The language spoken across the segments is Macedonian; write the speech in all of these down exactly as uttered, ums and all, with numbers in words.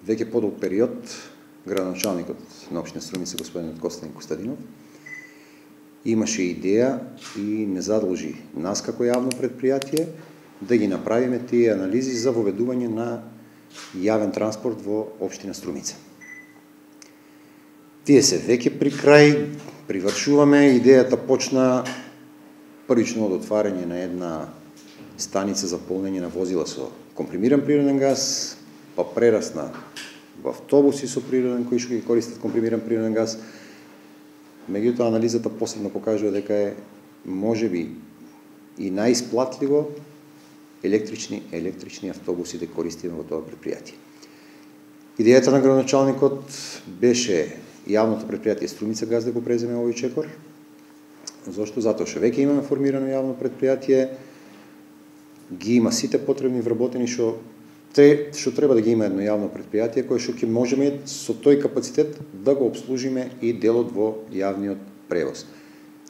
веќе подолг период градоначалникот на општина Струмица господин Костадин Костадинов имаше идеја и не задолжи нас како јавно предпријатие да ги направиме тие анализи за воведување на јавен транспорт во општина Струмица. Тие се веќе при крај, привршуваме, идејата почна првично од отварање на една станица за полнење на возила со компримиран природен газ, па прерасна во автобуси со природен кои што ги користат компримиран природен газ. Меѓутоа анализата посебно покажува дека е можеби и најисплатливо електрични електрични автобуси да користиме во тоа предпријатие. Идејата на градоначалникот беше јавното предпријатие Струмица газ да го преземе овој чекор. Зошто? Затоа што веќе имаме формирано јавно предпријатие, ги има сите потребни вработени што те што треба да ги има едно јавно предпријатие кое што ќе можеме со тој капацитет да го обслужиме и делот во јавниот превоз.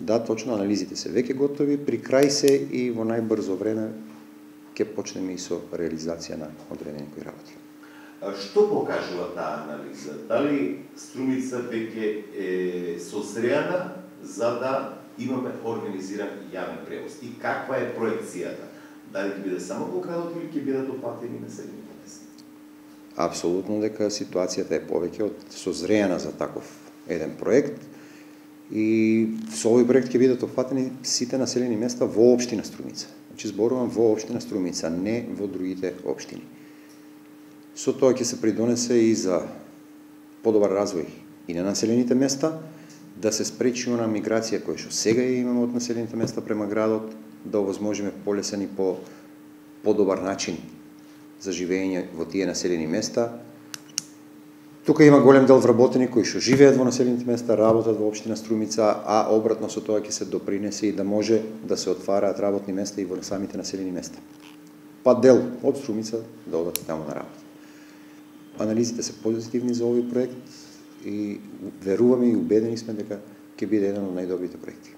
Да, точно, анализите се веќе готови, при крај се и во најбрзо време ќе почнеме и со реализација на одредени кои работи. Што покажува таа анализа? Дали Струмица веќе е созреана за да имаме организиран јавен превоз? И каква е проекцијата? Дали ќе биде само во градот или ќе бидат опатени населените места? Апсолутно дека ситуацијата е повеќе од созреана за таков еден проект и со овој проект ќе бидат опфатени сите населени места во општина Струмица. Значи зборувам во општина Струмица, не во другите општини. Со тоа ќе се придонесе и за подобар развој и на населените места, да се спречи она миграција која што сега ја имаме од населените места према градот, да овозможиме полесен и по подобар начин за живење во тие населени места. Тука има голем дел вработени кои што живеат во населените места, работат во општина Струмица, а обратно со тоа ќе се допринесе и да може да се отвараат работни места и во самите населени места. Па дел од Струмица да одат таму на работа. Анализите се позитивни за овој проект и веруваме и убедени сме дека ќе биде еден од најдобрите проекти.